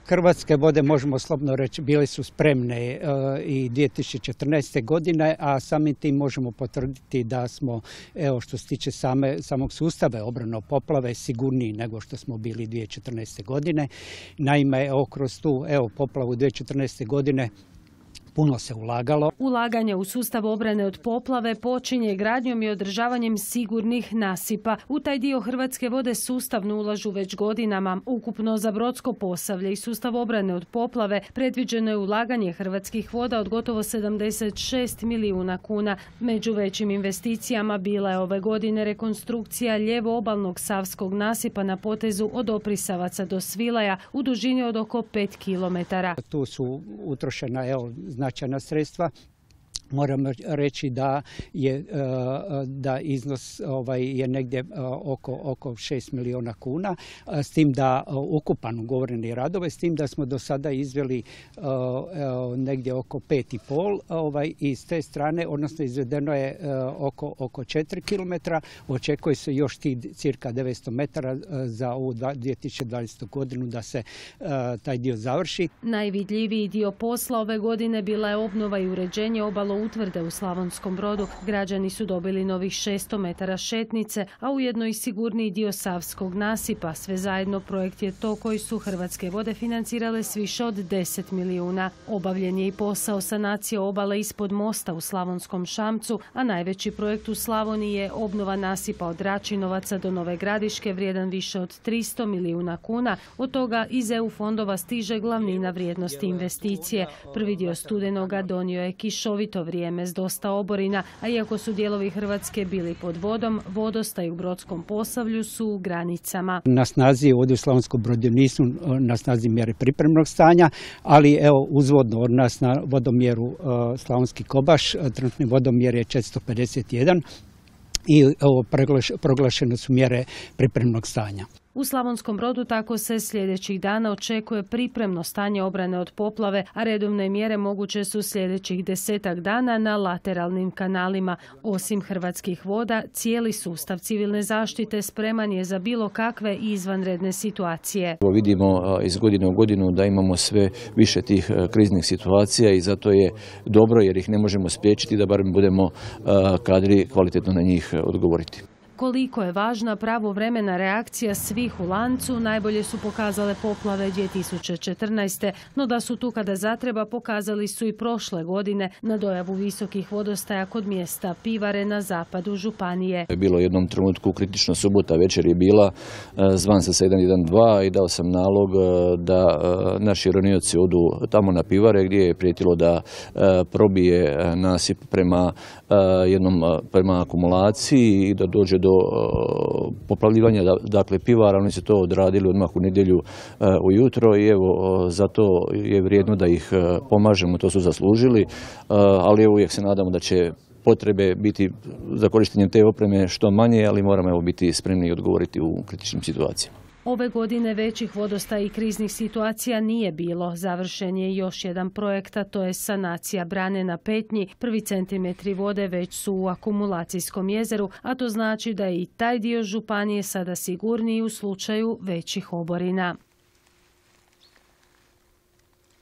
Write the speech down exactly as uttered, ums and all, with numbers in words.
Hrvatske vode, možemo slobodno reći, bile su spremne i dvije tisuće četrnaeste. godine, a samim tim možemo potvrditi da smo, evo, što se tiče same, samog sustava obrane od poplave, sigurniji nego što smo bili dvije tisuće četrnaeste. godine. Naime, evo, kroz tu evo, poplavu dvije tisuće četrnaeste. godine puno se ulagalo. Ulaganje u sustav obrane od poplave počinje gradnjom i održavanjem sigurnih nasipa. U taj dio Hrvatske vode sustavno ulažu već godinama. Ukupno za Brodsko Posavlje i sustav obrane od poplave predviđeno je ulaganje Hrvatskih voda od gotovo sedamdeset šest milijuna kuna. Među većim investicijama bila je ove godine rekonstrukcija lijevo obalnog savskog nasipa na potezu od Oprisavaca do Svilaja u dužini od oko pet kilometara. Tu su utrošena, evo, značajna sredstva. Moram reći da je da iznos ovaj je negdje oko oko šest milijuna kuna, s tim da ukupan ugovoreni radove, s tim da smo do sada izveli negdje oko pet i pol, ovaj i s te strane, odnosno izvedeno je oko oko četiri kilometra. Očekuje se još ti cirka devetsto metara za ovu dvije tisuće dvadesetu. godinu da se taj dio završi. Najvidljiviji dio posla ove godine bila je obnova i uređenje obalo utvrde u Slavonskom Brodu. Građani su dobili novih šesto metara šetnice, a ujedno i sigurniji dio savskog nasipa. Sve zajedno projekt je to koji su Hrvatske vode financirale s više od deset milijuna. Obavljen je i posao sanacije obale ispod mosta u Slavonskom Šamcu, a najveći projekt u Slavoniji je obnova nasipa od Račinovaca do Nove Gradiške vrijedan više od tristo milijuna kuna. Od toga iz E U fondova stiže glavnina vrijednosti investicije. Prvi dio studenoga donio je kišovito vrijeme s dosta oborina, a iako su dijelovi Hrvatske bili pod vodom, vodostaj u Brodskom Posavlju su u granicama. Na snazi ovdje u Slavonskom Brodu nisu na snazi mjere pripremnog stanja, ali evo uzvodno od nas na vodomjeru Slavonski Kobaš, trenutni vodomjer je četiristo pedeset jedan i evo proglašene su mjere pripremnog stanja. U Slavonskom Brodu tako se sljedećih dana očekuje pripremno stanje obrane od poplave, a redovne mjere moguće su sljedećih desetak dana na lateralnim kanalima. Osim Hrvatskih voda, cijeli sustav civilne zaštite spreman je za bilo kakve izvanredne situacije. Vidimo iz godine u godinu da imamo sve više tih kriznih situacija i zato je dobro jer ih ne možemo spriječiti da barem budemo kadri kvalitetno na njih odgovoriti. Koliko je važna pravovremena reakcija svih u lancu najbolje su pokazale poplave dvije tisuće četrnaeste. No da su tu kada zatreba pokazali su i prošle godine na dojavu visokih vodostaja kod mjesta Pivare na zapadu županije. Bilo u jednom trenutku kritično, subota večer je bila, zvan sa sedam jedan dva i dao sam nalog da naši ronioci odu tamo na Pivare gdje je prijetilo da probije nasip prema jednom prema akumulaciji i da dođe do poplavljivanja, dakle, Pivara. Oni su to odradili odmah u nedjelju ujutro i evo zato je vrijedno da ih pomažemo, to su zaslužili, ali evo uvijek se nadamo da će potrebe biti za korištenjem te opreme što manje, ali moramo evo biti spremni i odgovoriti u kritičnim situacijama. Ove godine većih vodostaja i kriznih situacija nije bilo. Završen je još jedan projekt, a to je sanacija brane na Petnji. Prvi centimetri vode već su u akumulacijskom jezeru, a to znači da je i taj dio županije sada sigurniji u slučaju većih oborina.